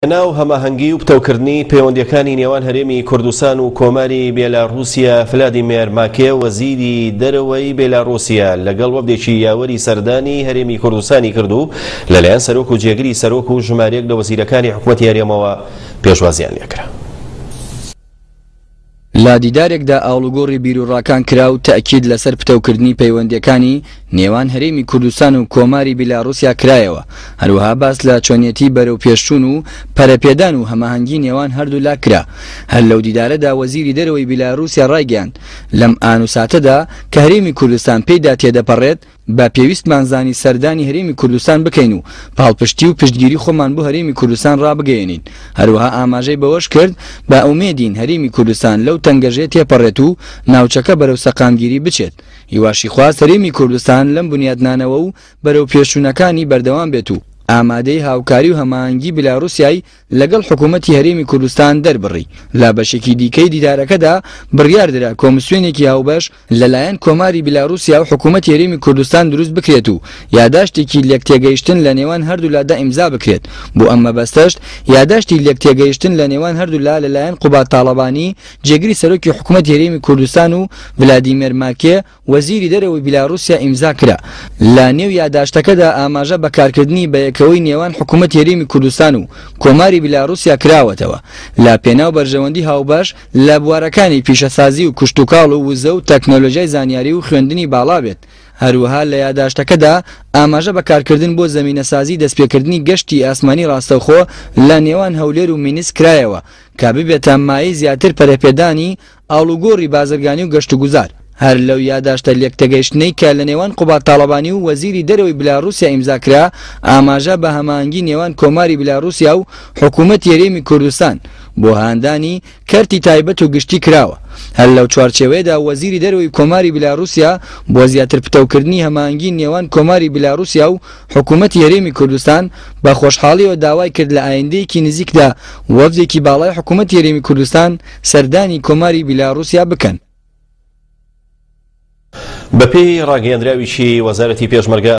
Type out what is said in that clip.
لەناو هەماهەنگی و پتەوکردنی پەیوەندییەکانی نێوان هەرێمی کوردستان و کۆماری بێلاڕووسیا، فلادیمێر ماکێ وەزیری دەرەوەی بێلاڕووسیا لەگەڵ وەفدێکی یاوەری سەردانی هەرێمی کوردستانی کرد و لەلایەن سەرۆک و جێگری سەرۆک و ژمارەیەک لە وەزیرەکانی حکومەتی هەرێمەوە پێشوازیان لێکرا. لە دیدارێکدا ئاڵوگۆڕی بیروڕاکان کرا و تەئکید لەسەر پتەوکردنی پەیوەندییەکانی نێوان هەرێمی کوردستان و کۆماری بیلاڕوسیا کرایەوە، هەروەها باس لە چۆنیەتی بەرەوپێشچوون و پەرەپێدان و هەماهەنگی نێوان هەردوولا کرا. هەر لەو دیدارەدا وەزیری دەرەوەی بیلاڕوسیا ڕایگەیاند، لەم ئان و ساتەدا کە هەرێمی کوردستان پێیدا تێدەپەڕێت، بە پێویستمان زانی سەردانی هەرێمی کوردستان بکەین و پاڵپشتی و پشتگیری خۆمان بۆ هەرێمی کوردستان ڕابگەیەنین. هەروەها ئاماژەی بەوەش کرد، بە ئومێدین هەرێمی کوردستان لەو تەنگەژەیە تێپەڕێت و ناوچەکە بەرەو سەقامگیری بچێت. هیواشی خواست هەرێمی کوردستان لەم بنیاتنانەوە و بەرەوپێشچوونەکانی بەردەوام بێت و ئامادەی هاوکاری و هەماهەنگی بلاروسیای لەگەڵ حکوومەتی هەرێمی کوردستان دەربڕی. لە بەشێکی دیکەی دیدارەکەدا بڕیاردرا کۆمسیۆنێکی هاوبەش لەلایەن کۆماری بیلاروسیا و حکوومەتی هەرێمی کوردستان دروست بکرێت و یاداشتێکی لێکتێگەیشتن لە نێوان هەردوولادا ئیمزا بکرێت، بۆ ئەم مەبەستەش یاداشتی لێکتێگەیشتن لە نێوان هەردوولا لەلایەن قوباد تاڵەبانی جێگری سەرۆکی حکوومەتی هەرێمی کوردستان و ڤلادیمێر ماکێ وەزیری دەرەوەی بیلاروسیا ئیمزا کرا. لە نێو یاداشتەکەدا ئاماژە بە کارکردنی بەیەکەوەی نێوان حکوومەتی هەرێمی کوردستان و کۆماری بیلاروسیا کراوەتەوە لە پێناو بەرژەوەندی هاوبەش لە بوارەکانی پیشەسازی و کشتوکاڵ و وزە و تەکنۆلۆژیای زانیاری و خوێندنی باڵا بێت. هەروەها لە یاداشتەکەدا ئاماژە بە کارکردن بۆ زەمینەسازی دەستپێکردنی گەشتی ئاسمانی ڕاستەوخۆ لە نێوان هەولێر و مینسک کرایەوە کە ببێتە مایەی زیاتر پەرەپێدانی ئاڵوگۆڕی بازرگانی و گەشتوگوزار. هەر لەو یاداشتە لێکتێگەیشتنەی کە لە نێوان قوباد تاڵەبانی و وەزیری دەرەوەی بلاروسیا ئیمزا کرا، ئاماژە بە هەماهەنگی نێوان کۆماری بلاروسیا و حکوومەتی هەرێمی کوردستان بۆ هاندانی کەرتی تایبەت و گشتی کراوە. هەر لەو چوارچێوەیەدا وەزیری دەرەوەی کۆماری بلاروسیا بۆ زیاتر پتەوکردنی هەماهەنگی نێوان کۆماری بلاروسیا و حکوومەتی هەرێمی کوردستان بە خۆشحاڵیەوە داوای کرد لە ئایندەیەکی نزیکدا وەفدێکی باڵای حکوومەتی هەرێمی کوردستان سەردانی کۆماری بیلاڕوسیا بکەن. بەپێی ڕاگەیەندراویکی وەزارەتی پێشمەرگە.